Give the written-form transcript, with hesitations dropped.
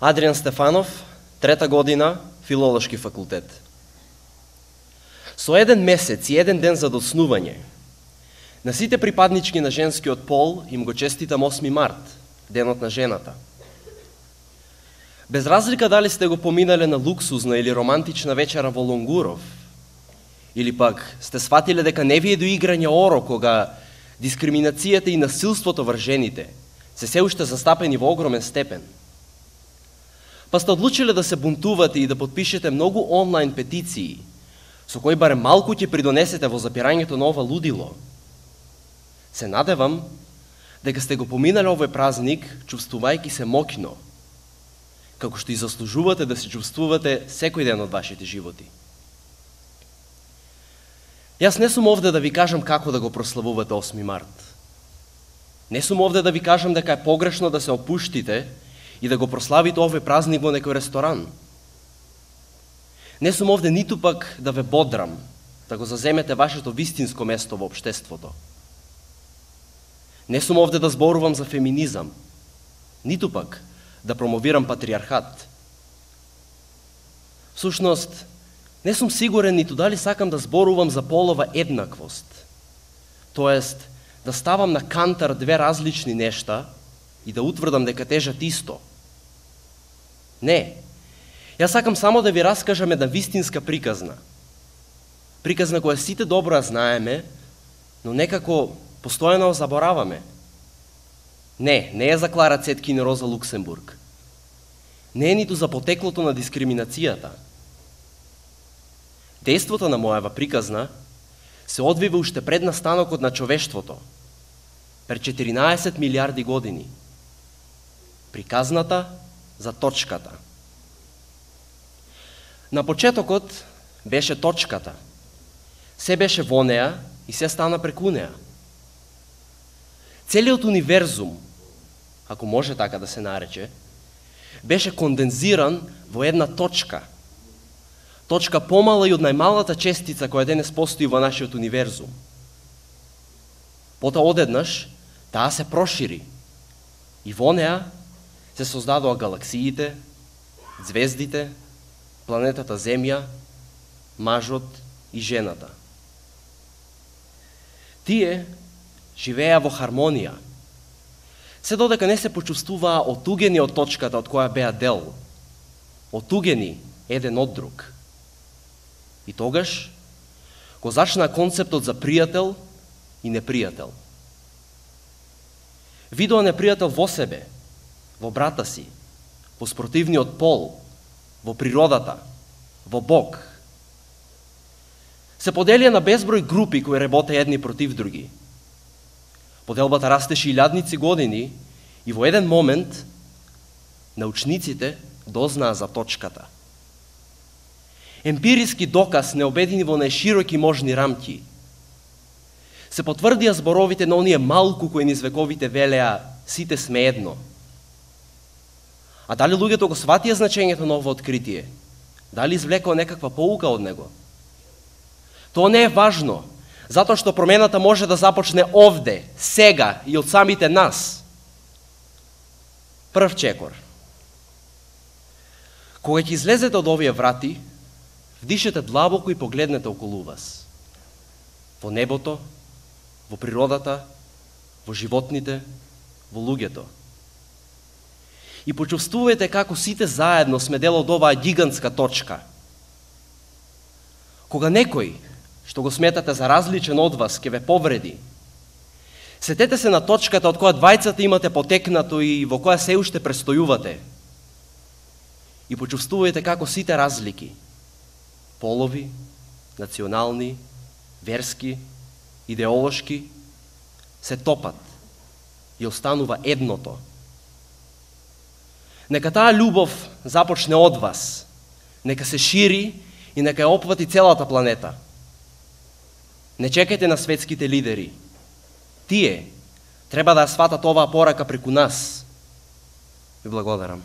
Адриан Стефанов, 3-та година, Филолошки факултет. Со еден месец и еден ден за доцнување, на сите припаднички на женскиот пол им го честитам 8 март, денот на жената. Без разлика дали сте го поминале на луксузна или романтична вечера во Лонгуров, или пак сте сватиле дека не ви е до играње оро кога дискриминацијата и насилството врз жените се уште застапени во огромен степен. Па сте одлучиле да се бунтувате и да подпишете многу онлайн петиции, со кои барем малку ќе придонесете во запирањето на ова лудило. Се надевам дека сте го поминале овој празник чувствувајќи се моќно, како што и заслужувате да се чувствувате секој ден од вашите животи. Јас не сум овде да ви кажам како да го прославувате 8 март. Не сум овде да ви кажам дека е погрешно да се опуштите и да го прославите овој празник во некој ресторан. Не сум овде ниту пак да ве бодрам, да го заземете вашето вистинско место во општеството. Не сум овде да зборувам за феминизам, ниту пак да промовирам патриархат. Всушност, не сум сигурен ниту дали сакам да зборувам за полова еднаквост, тоест да ставам на кантар две различни нешта и да утврдам дека тежат исто. Не, јас сакам само да ви раскажам една вистинска приказна. Приказна која сите добро ја знаеме, но некако постојано забораваме. Не е за Клара Цеткин и Роза Луксембург. Не е ниту за потеклото на дискриминацијата. Дејството на мојава приказна се одвива уште пред настанокот на човештвото, пред 14 милиарди години. Приказната за точката. На почетокот беше точката. Се беше во неа и се стана преку неа. Целиот универзум, ако може така да се нарече, беше кондензиран во една точка. Точка помала и од најмалата честица која денес постои во нашиот универзум. Потоа одеднаш таа се прошири и во неа се создадоа галаксиите, звездите, планетата Земја, мажот и жената. Тие живееа во хармонија, се додека не се почувствуваа отугени од точката од која беа дел, отугени еден од друг. И тогаш го зачна концептот за пријател и непријател. Видоа непријател во себе, во брата си, во спротивниот пол, во природата, во Бог. Се поделија на безброј групи кои работеа едни против други. Поделбата растеше илјадници години и во еден момент научниците дознаа за точката. Емпириски доказ не обедини во најшироки можни рамки. Се потврдија зборовите на оние малку кои низ вековите велеа сите сме едно. А дали луѓето го сватија значењето на ово откритие? Дали извлекоа некаква поука од него? Тоа не е важно, затоа што промената може да започне овде, сега и од самите нас. Прв чекор. Кога ќе излезете од овие врати, вдишете длабоко и погледнете околу вас. Во небото, во природата, во животните, во луѓето. И почувствувате како сите заедно сме дел од оваа гигантска точка. Кога некој, што го сметате за различен од вас, ќе ве повреди, сетете се на точката од која двајцата имате потекнато и во која се уште престојувате. И почувствувате како сите разлики, полови, национални, верски, идеолошки, се топат и останува едното. Нека таа љубов започне од вас, нека се шири и нека ја опфати целата планета. Не чекајте на светските лидери. Тие треба да ја сватат оваа порака преку нас. Ви благодарам.